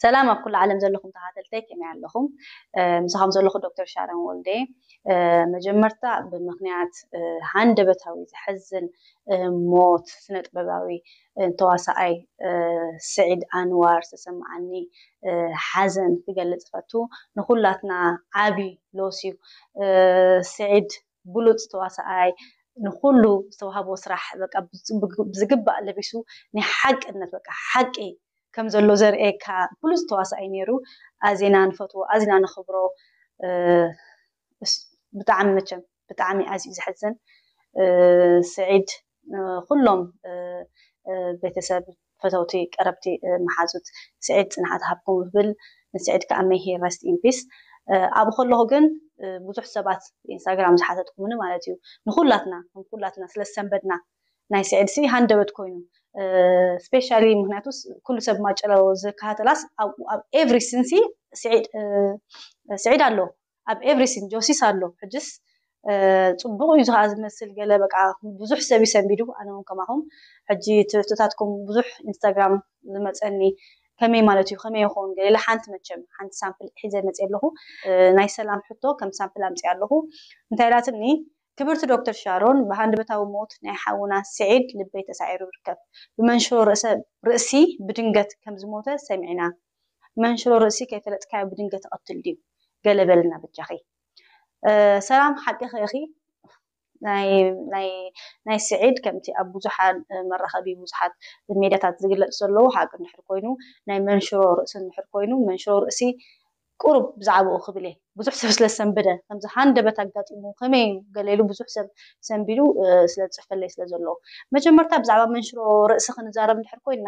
ሰላም ኣብ ኩሉ ዓለም ዘለኹም ተኸታተልተይ፣ ከመይ ኣለኹም? ምሳኹም ዘለኹ ዶክተር ሻረን ወልዴ። መጀመርታ፣ ብምኽንያት ሃንደበታዊ ዘሕዝን ሞት ስነ ጥበባዊ ተዋሳኣይ ስዒድ ኣንዋር ዝተሰማዓኒ ሓዘን ክገልጽ እፈቱ። ንኹላትና ዓቢ ሎስ እዩ። ስዒድ ብሉጽ ተዋሳኣይ፣ ንኹሉ ዝተዋህቦ ስራሕ በቃ ብዝግባእ ለቢሱ፣ ናይ ሓቅነት በቃ ሓቂ ከም ዘሎ ዘርእየካ ብሉጽ ተዋሳኣይ ነይሩ። ኣዚና ንፈትዎ፣ ኣዚና ነኽብሮ። ብጣዕሚ፣ መቸም ብጣዕሚ ኣዝዩ ዘሕዝን። ስዒድ፣ ኩሎም ቤተሰብ፣ ፈተውቲ፣ ቀረብቲ፣ መሓዙት ስዒድ ጽንዓት ሃብኩም ይብል። ንስዒድ ከዓ may he rest in peace። ኣብኡ ከለኹ ግን ብዙሕ ሰባት ኢንስታግራም ዝሓተትኩምኒ ማለት እዩ፣ ንኩላትና ንኩላትና ስለ ዝሰንበድና፣ ናይ ስዒድ ሲ ሃንደበት ኮይኑ፣ ስፔሻሊ ምክንያቱስ ኩሉ ሰብ ማጨሎ ዝከታተላስ ኣብ ኤቭሪ ሲን ሲ ስዒድ ኣሎ፣ ኣብ ኤቭሪ ሲን ጆሲስ ኣሎ። ሕጅስ ጽቡቕ እዩ ዝኸዓ ዝመስል፣ ገለ በቃ ብዙሕ ሰብ ይሰንቢዱ። ኣነ እውን ከማኹም ሕጂ ትሕቶታትኩም ብዙሕ ኢንስታግራም ዝመፀኒ፣ ከመይ ማለት እዩ፣ ከመይ ይኸውን ገለ ሓንቲ፣ መቸም ሓንቲ ሳምፕል ሒዘ መፅእ ኣለኹ። ናይ ሰላም ሕቶ ከም ሳምፕል ኣምፅእ ኣለኹ። እንታይ ኢላትኒ? ክብርቲ ዶክተር ሻሮን፣ ብሃንደበታዊ ሞት ናይ ሓውና ስዒድ ልበይ ተሳዒሩ ይርከብ። ብመንሽሮ ርእሲ ብድንገት ከም ዝሞተ ሰሚዕና። መንሽሮ ርእሲ ከይፈለጥካዮ ብድንገት ይቐትል ድዩ? ገለ በልና በጃኺ። ሰላም፣ ሓቂ ኸይኺ። ናይ ናይ ናይ ስዒድ ከምቲ ኣብ ብዙሓት መራኸቢ ብዙሓት ሜድያታት ዝግለጽ ዘለዉ ሓቂ እንድሕር ኮይኑ፣ ናይ መንሽሮ ርእሲ እንድሕር ኮይኑ፣ መንሽሮ ርእሲ ቁሩብ ብዛዕባኡ ክብል እየ። ብዙሕ ሰብ ስለ ዝሰንበደ፣ ከምዚ ሃንደበት ኣጋጢሙ ከመይ እዩ ገለ ኢሉ ብዙሕ ሰብ ሰንቢዱ ስለ ዝጽሕፈለይ ስለ ዘሎ፣ መጀመርታ ብዛዕባ መንሽሮ ርእሲ ክንዛረብ እንድሕር ኮይና፣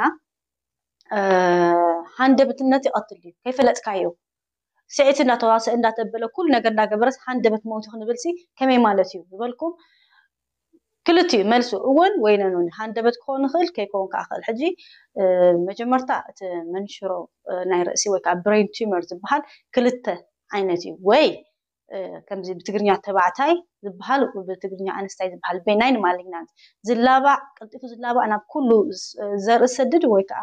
ሃንደበትነት ይቐትል እዩ። ከይፈለጥካዮ፣ ስዒት እንዳተዋሰ እንዳተበለ ኩሉ ነገር እንዳገበረስ ሃንደበት ሞይቱ ክንብልሲ ከመይ ማለት እዩ ዝበልኩም፣ ክልቲኡ መልሱ እወን ወይ ነኖን። ሃንደበት ክኸውን ይኽእል፣ ከይከውን ከዓ ይኽእል። ሕጂ መጀመርታ እቲ መንሽሮ ናይ ርእሲ ወይ ከዓ ብሬን ቲመር ዝበሃል ክልተ ዓይነት እዩ። ወይ ከምዚ ብትግርኛ ተባዕታይ ዝበሃል፣ ብትግርኛ ኣንስታይ ዝበሃል፣ ቤናይን ማሊግናንት፣ ዝላባዕ፣ ቀልጢፉ ዝላባዕ፣ ናብ ኩሉ ዘርኢ ዝሰድድ ወይ ከዓ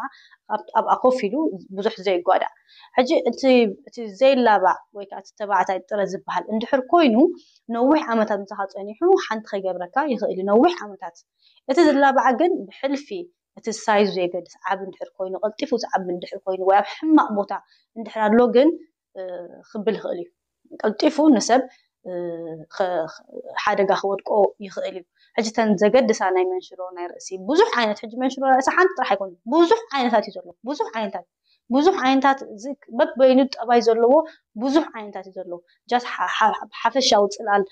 ኣብኣ ኮፍ ኢሉ ብዙሕ ዘይጓዳእ። ሕጂ እቲ ዘይላባዕ ወይ ከዓ እቲ ተባዕታይ ጥረ ዝበሃል እንድሕር ኮይኑ፣ ነዊሕ ዓመታት ምሳኻ ፀኒሑ ሓንቲ ከይገብረካ ይኽእል እዩ፣ ነዊሕ ዓመታት። እቲ ዝላባዕ ግን ብሕልፊ እቲ ሳይዙ ዘይገድስ፣ ዓቢ እንድሕር ኮይኑ፣ ቀልጢፉ ዝዓቢ እንድሕር ኮይኑ፣ ወይ ኣብ ሕማቕ ቦታ እንድሕር ኣሎ ግን ክብል ይኽእል እዩ። ቀልጢፉ ንሰብ ሓደጋ ክወድቆ ይኽእል እዩ። ሕጂ ተን ዘገድሳ ናይ መንሽሮ ናይ ርእሲ ብዙሕ ዓይነት፣ ሕጂ መንሽሮ ናይ ርእሲ ሓንቲ ጥራሕ ኣይኮነ፣ ብዙሕ ዓይነታት እዩ ዘሎ። ብዙሕ ዓይነታት ብዙሕ ዓይነታት፣ በበይኑ ጠባይ ዘለዎ ብዙሕ ዓይነታት እዩ ዘለዎ። ጃስ ሓፈሻዊ ፅላል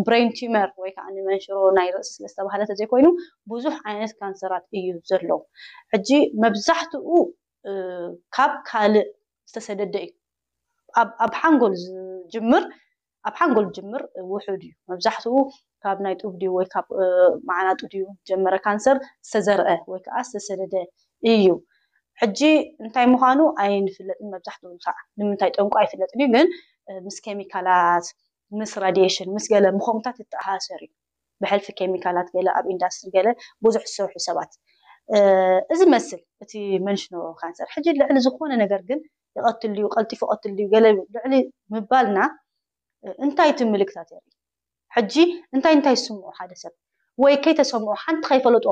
ብሬን ቲመር ወይ ከዓ መንሽሮ ናይ ርእሲ ስለዝተባሃለ ተዘይኮይኑ፣ ብዙሕ ዓይነት ካንሰራት እዩ ዘሎ። ሕጂ መብዛሕትኡ ካብ ካልእ ዝተሰደደ እዩ። ኣብ ሓንጎል ዝጅምር ኣብ ሓንጎል ዝጅምር ውሑድ እዩ። መብዛሕትኡ ካብ ናይ ጡብ ድዩ ወይ ካብ መዓናጡ ድዩ ጀመረ ካንሰር ዝተዘርአ ወይ ከዓ ዝተሰደደ እዩ። ሕጂ እንታይ ምዃኑ ኣይንፍለጥን። መብዛሕትኡ ሳዕ ንምንታይ ጠንቁ ኣይፍለጥን እዩ፣ ግን ምስ ኬሚካላት፣ ምስ ራዲሽን፣ ምስ ገለ ምኾምታት ይተኣሳሰር እዩ። ብሕልፊ ኬሚካላት ገለ ኣብ ኢንዳስትሪ ገለ ብዙሕ ዝሰርሑ ሰባት እዚ መስል እቲ መንሽኖ ካንሰር። ሕጂ ልዕሊ ዝኾነ ነገር ግን ይቐትል ድዩ፣ ቀልጢፉ ይቐትል ድዩ፣ ገለ ልዕሊ ምባልና እንታይ እቲ ምልክታት የርኢ? ሕጂ እንታይ እንታይ ዝስምዖ ሓደ ሰብ ወይ ከይተሰምዖ ሓንቲ ከይፈለጦ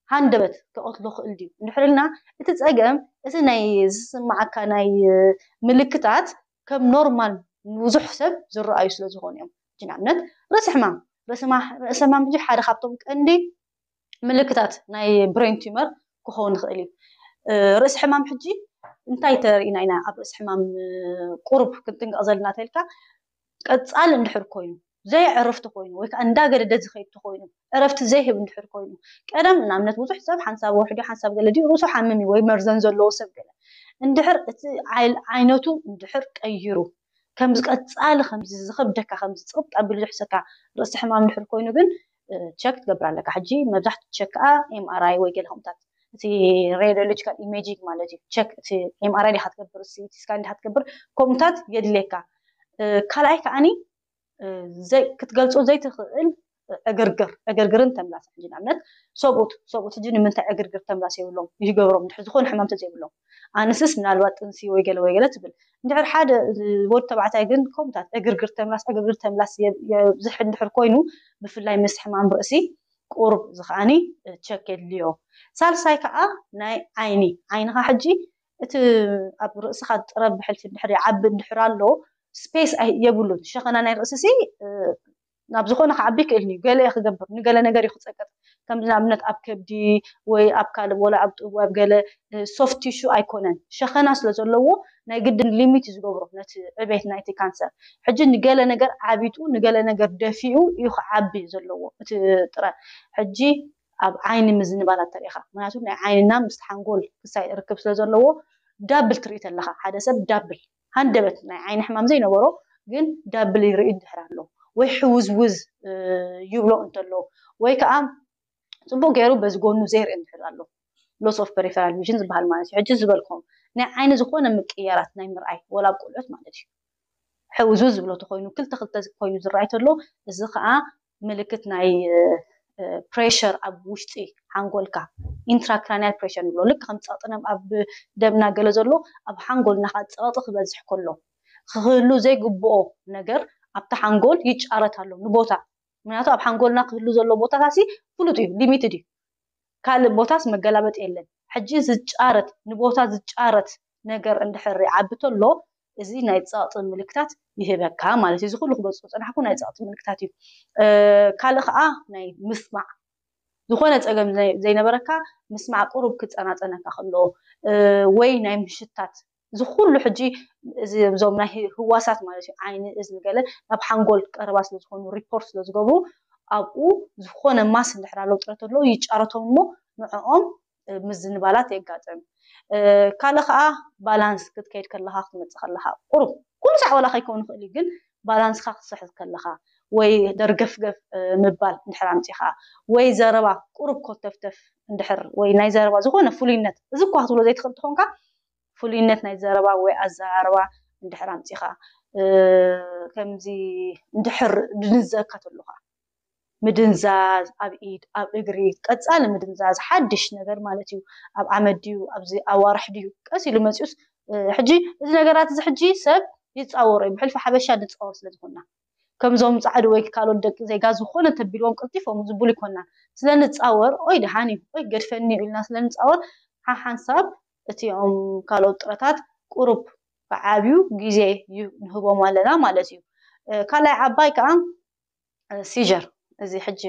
ሃንደበት ክቐትሎ ክእል ድዩ እንድሕር ኢልና፣ እቲ ጸገም እቲ ናይ ዝስምዓካ ናይ ምልክታት ከም ኖርማል ንብዙሕ ሰብ ዝረኣዩ ስለ ዝኾኑ እዮም። ሕጂ ንኣብነት ርእሲ ሕማም፣ ርእሲ ሕማም ሕጂ ሓደ ካብቶም ቀንዲ ምልክታት ናይ ብሬን ቲመር ክኸውን ይኽእል እዩ። ርእሲ ሕማም ሕጂ እንታይ ተሪእና ኢና ኣብ ርእሲ ሕማም ቁሩብ ክንጥንቀቕ ዘለና ተልካ፣ ቀጻሊ እንድሕር ኮይኑ፣ ዘይዕርፍቲ ኮይኑ ወይ ከዓ እንዳገደደ ዝኸይድ ተኮይኑ፣ ዕረፍቲ ዘይህብ እንድሕር ኮይኑ፣ ቀደም ንኣብነት ብዙሕ ሰብ ሓንሳብ ወርሒ ድዩ ሓንሳብ ገለ ድዩ ርእሱ ሓምም እዩ ወይ መርዘን ዘለዎ ሰብ ገለ እንድሕር እቲ ዓይነቱ እንድሕር ቀይሩ፣ ከምዚ ቀጻሊ ከምዚ ዝኸብደካ ከምዚ ጽቕጥ ኣቢሉ ዝሕሰካ ርእሲ ሕማም እንድሕር ኮይኑ ግን ቸክ ትገብር ኣለካ። ሕጂ መብዛሕትኡ ቸክ ከዓ ኤምኣርኣይ ወይ ገለ ከምታት እቲ ሬዲዮሎጂካል ኢሜጂንግ ማለት እዩ። ቸክ እቲ ኤምኣርኣይ ዲካ ትገብር፣ ሲቲ ስካን ዲካ ትገብር፣ ከምታት የድልየካ። ካልኣይ ከዓኒ ክትገልጾ ዘይትኽእል ዕግርግር ዕግርግርን ተምላስ ሕጂ ንኣብነት ሰብኡት ሰብኡት ሕጂ ንምንታይ ዕግርግር ተምላስ የብሎም ይገብሮም ድሕር ዝኾነ ሕማም ተዘይብሎም ኣንስስ ምናልባት ጥንሲ ወይ ገለ ወይ ገለ ትብል እንድሕር ሓደ ወድ ተባዕታይ ግን ከምታት ዕግርግር ተምላስ ዕግርግር ተምላስ የብዝሕ እንድሕር ኮይኑ ብፍላይ ምስ ሕማም ርእሲ ቁሩብ እዚ ከዓኒ ቸክ የድልዮ። ሳልሳይ ከዓ ናይ ዓይኒ ዓይንኻ ሕጂ እቲ ኣብ ርእስኻ ጥረብ ብሕልፊ እንድሕር ይዓቢ እንድሕር ኣሎ ስፔስ የብሉን ሸኸና ናይ ርእሲ ሲ ናብ ዝኾነ ክዓቢ ይክእል እዩ ገለ ክገብር ንገለ ነገር እዩ ክፀቅጥ ከምዚ ንኣብነት ኣብ ከብዲ ወይ ኣብ ካልእ ወላ ኣብ ጥቡ ኣብ ገለ ሶፍት ቲሹ ኣይኮነን ሸኸና ስለ ዘለዎ ናይ ግድን ሊሚት እዩ ዝገብሮ ነቲ ዕቤት ናይቲ ካንሰር ሕጂ ንገለ ነገር ዓቢጡ ንገለ ነገር ደፊኡ እዩ ክዓቢ ዘለዎ እቲ ጥረ ሕጂ ኣብ ዓይኒ ምዝንባላት ተሪኢኻ ምክንያቱ ናይ ዓይንና ምስ ሓንጎል ክሳይ ርክብ ስለ ዘለዎ ዳብል ትርኢ ተለኻ ሓደ ሰብ ዳብል ሃንደበት ናይ ዓይኒ ሕማም ዘይነበሮ ግን ዳብል ይርኢ እንድሕር ኣሎ ወይ ሕውዝውዝ ይብሎ እንተሎ ወይ ከዓ ፅቡቅ ገይሩ በዚ ጎኑ ዘይርኢ እንድሕር ኣሎ loss of peripheral vision ዝበሃል ማለት እዩ ሕጂ ዝበልኩም ናይ ዓይኒ ዝኾነ ምቅያራት ናይ ምርኣይ ወላ ኣብ ቆልዑት ማለት እዩ ሕውዝውዝ ዝብሎ ተኮይኑ ክልተ ክልተ ኮይኑ ዝረኣይ ተሎ እዚ ከዓ ምልክት ናይ ፕሬሸር ኣብ ውሽጢ ሓንጎልካ ኢንትራክራኒያል ፕሬሸር ንብሎ ልክ ከም ፀቕጥነም ኣብ ደምና ገለ ዘሎ ኣብ ሓንጎልና ከዓ ፀቕጢ ክበዝሕ ከሎ ክህሉ ዘይግብኦ ነገር ኣብቲ ሓንጎል ይጫረት ኣሎ ንቦታ ምክንያቱ ኣብ ሓንጎልና ክህሉ ዘሎ ቦታታሲ ፍሉጥ እዩ ሊሚትድ እዩ ካልእ ቦታስ መገላበጥ የለን ሕጂ ዝጫረት ንቦታ ዝጫረት ነገር እንድሕር ይዓቢ ተሎ እዚ ናይ ፀቕጢ ምልክታት ይህበካ ማለት እዩ እዚ ኩሉ ክገልፆ ዝፀናሕኩ ናይ ፀቕጢ ምልክታት እዩ ካልእ ከዓ ናይ ምስማዕ ዝኾነ ፀገም ዘይነበረካ ምስማዕ ቁሩብ ክፀናፀነካ ከሎ ወይ ናይ ምሽታት እዚ ኩሉ ሕጂ እዞም ናይ ህዋሳት ማለት እዩ ዓይኒ እዝኒ ገለ ናብ ሓንጎል ቀረባ ስለዝኮኑ ሪፖርት ስለዝገብሩ ኣብኡ ዝኾነ ማስ እንድሕር ኣለዉ ጥረት ኣለዉ ይጫረቶም እሞ ንዕኦም ምዝንባላት የጋጥም ካልእ ከዓ ባላንስ ክትከይድ ከለካ ክትመፅእ ከለካ ቁሩብ ኩሉ ሳዕ ዋላ ከይከውን ይኽእል እዩ ግን ባላንስካ ክትስሕት ከለካ ወይ ደርገፍገፍ ምባል እንድሕር ኣምፂኻ ወይ ዘረባ ቁሩብ ኮተፍተፍ እንድሕር ወይ ናይ ዘረባ ዝኾነ ፍሉይነት እዚ እኳ ክትብሎ ዘይትኽእል ትኾንካ ፍሉይነት ናይ ዘረባ ወይ ኣዘራርባ እንድሕር ኣምፂኻ ከምዚ እንድሕር ድንዘካ ተሉካ ምድንዛዝ ኣብ ኢድ ኣብ እግሪ ቀፃሊ ምድንዛዝ ሓድሽ ነገር ማለት እዩ ኣብ ዓመት ድዩ ኣብዚ ኣዋርሕ ድዩ ቀስ ኢሉ መፂኡስ ሕጂ እዚ ነገራት እዚ ሕጂ ሰብ ይፃወሮ እዩ ብሕልፊ ሓበሻ ንፃወር ስለ ዝኾንና ከምዞም ፃዕዲ ወይ ካልኦት ደቂ ዜጋ ዝኾነ ተቢልዎም ቀልጢፎም ዝቡል ይኮና ስለ ንፃወር ኦይ ደሓን እዩ ኦይ ገድፈኒ እዩ ኢልና ስለ ንፃወር ሓሓንሳብ እቲኦም ካልኦት ጥረታት ቁሩብ ብዓብዩ ግዜ እዩ ንህቦም ኣለና ማለት እዩ ካልኣይ ዓባይ ከዓ ሲር እዚ ሕጂ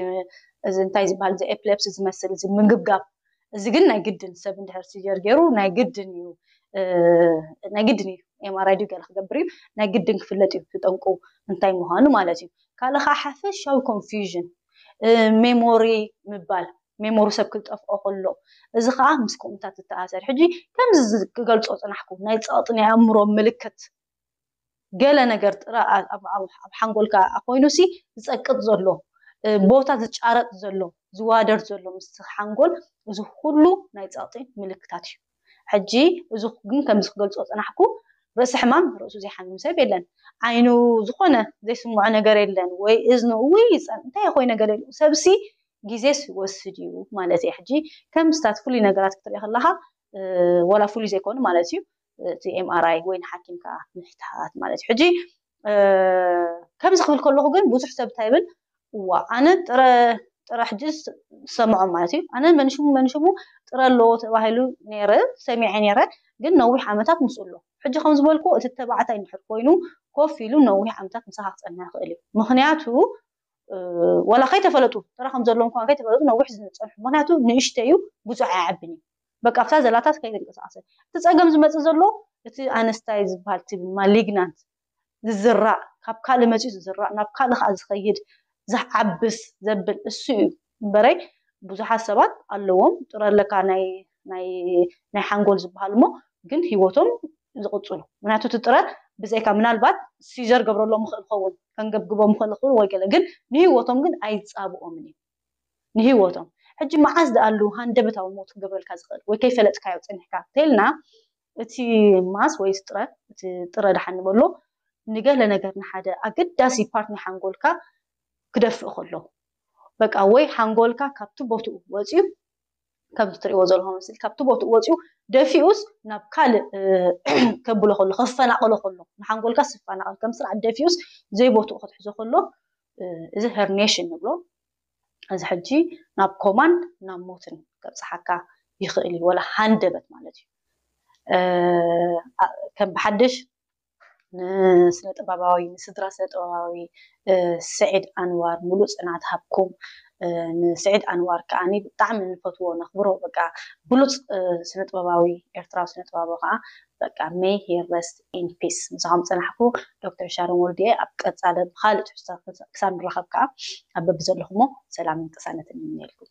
እዚ እንታይ ዝበሃል እዚ ኤፕሌፕሲ ዝመስል እዚ ምግብጋብ እዚ ግን ናይ ግድን ሰብ እንድሕር ሲር ገይሩ ናይ ግድን እዩ ናይ ግድን እዩ ኤምኣርኣይ ድዩ ገለ ክገብር እዩ ናይ ግድን ክፍለጥ እዩ ዝጠንቁ እንታይ ምዃኑ ማለት እዩ ካልእ ከዓ ሓፈሻዊ ኮንፊዥን ሜሞሪ ምባል ሜሞሪ ሰብ ክጠፍኦ ከሎ እዚ ከዓ ምስ ከምኡታት ዝተኣሰር ሕጂ ከምዚ ክገልፆ ፅናሕኩ ናይ ፀቕጢ ናይ ኣእምሮ ምልክት ገለ ነገር ጥረ ኣብ ሓንጎልካ ኮይኑሲ ዝፀቅጥ ዘሎ ቦታ ዝጫረጥ ዘሎ ዝዋደር ዘሎ ምስ ሓንጎል እዚ ኩሉ ናይ ፀቕጢ ምልክታት እዩ ሕጂ እዚ ግን ከምዚ ክገልፆ ፅናሕኩ ርእሲ ሕማም ርእሱ ዘይሓምም ሰብ የለን ዓይኑ ዝኾነ ዘይስምዖ ነገር የለን ወይ እዝኑ እውይ ይፀን እንታይ ይኮይ ነገር የለ ሰብሲ ግዜስ ይወስድ እዩ ማለት እዩ ሕጂ ከም ስታት ፍሉይ ነገራት ክትርኢ ከለካ ወላ ፍሉይ ዘይኮኑ ማለት እዩ እቲ ኤምኣርኣይ ወይ ንሓኪምካ ምሕታት ማለት እዩ ሕጂ ከምዚ ክብል ከለኹ ግን ብዙሕ ሰብ እንታይ ይብል እዋ ኣነ ጥረ ጥረ ሕጂ ዝሰምዖ ማለት እዩ ኣነ መንሽሙ መንሽሙ ጥረ ኣለዎ ተባሂሉ ነረ ሰሚዐ ነረ ግን ነዊሕ ዓመታት ምስኡ ኣሎ ሕጂ ከም ዝበልኩ እቲ ተባዕታይ እንድሕር ኮይኑ ኮፍ ኢሉ ነዊሕ ዓመታት ምሳኻ ክፀንሕ ይኽእል እዩ ምክንያቱ ዋላ ከይተፈለጡ ጥረ ከም ዘለዎም ከይተፈለጡ ነዊሕ ዝፀንሑ ምክንያቱ ንእሽተዩ ብዙሕ ኣይዓብን እዩ በቃ ኣብታ ዘላታት ከይተንቀሳቀሰ እቲ ፀገም ዝመፅእ ዘሎ እቲ ኣነስታይ ዝበሃል ትብል ማሊግናንት ዝዝራእ ካብ ካልእ መፂኡ ዝዝራእ ናብ ካልእ ከዓ ዝኸይድ ዝዓብስ ዘብል እሱ እዩ እምበረይ ብዙሓት ሰባት ኣለዎም ጥረ ኣለካ ናይ ናይ ናይ ሓንጎል ዝበሃል እሞ ግን ህይወቶም ዝቕፅሉ ምክንያቱ እቲ ጥረ ብዘይካ ምናልባት ሲር ገብረሎም ምኽእል ኸውን ከንገብግቦም ምኽእል ኸውን ወይ ገለ ግን ንህይወቶም ግን ኣይፃብኦምን እዩ ንህይወቶም ሕጂ መዓዝ ደኣሉ ሃንደበታዊ ሞት ክገብረልካ ዝኽእል ወይ ከይፈለጥካዮ ፀኒሕካ እንተልና እቲ ማስ ወይ ጥረ እቲ ጥረ ደሓን ንበሎ ንገለ ነገር ንሓደ ኣገዳሲ ፓርት ናይ ሓንጎልካ ክደፍእ ከሎ በቃ ወይ ሓንጎልካ ካብቲ ቦትኡ ወፂኡ ከምዚ ትሪእዎ ዘለኹም ስል ካብቲ ቦትኡ ወፂኡ ደፊኡስ ናብ ካልእ ከብሎ ከሎ ከፈናቐሎ ከሎ ንሓንጎልካ ዝፈናቐል ከም ስርዓት ደፊኡስ ዘይቦትኡ ክትሕዞ ከሎ እዚ herniation ንብሎ። እዚ ሕጂ ናብ ኮማን ናብ ሞትን ከብፅሓካ ይኽእል እዩ፣ ወላ ሃንደበት ማለት እዩ። ከም ብሓድሽ ንስነ ጥበባዊ ንስድራ ስነ ጥበባዊ ስዒድ ኣንዋር ሙሉእ ፅናት ሃብኩም። ንስዒድ ኣንዋር ከዓኒ ብጣዕሚ ንፈትዎ ነኽብሮ፣ በቃ ብሉፅ ስነ ጥበባዊ ኤርትራዊ ስነ ጥበባዊ ከዓ በቃ may he rest in peace። ምሳኹም ፀናሕኩ ዶክተር ሻሮን ወልድየ። ኣብ ቀፃሊ ብካልእ ትሕዝቶ ክሳብ ንራኸብ ከዓ ኣብ በብዘለኹሞ ሰላምን ቅሳነትን ይምነየልኩም።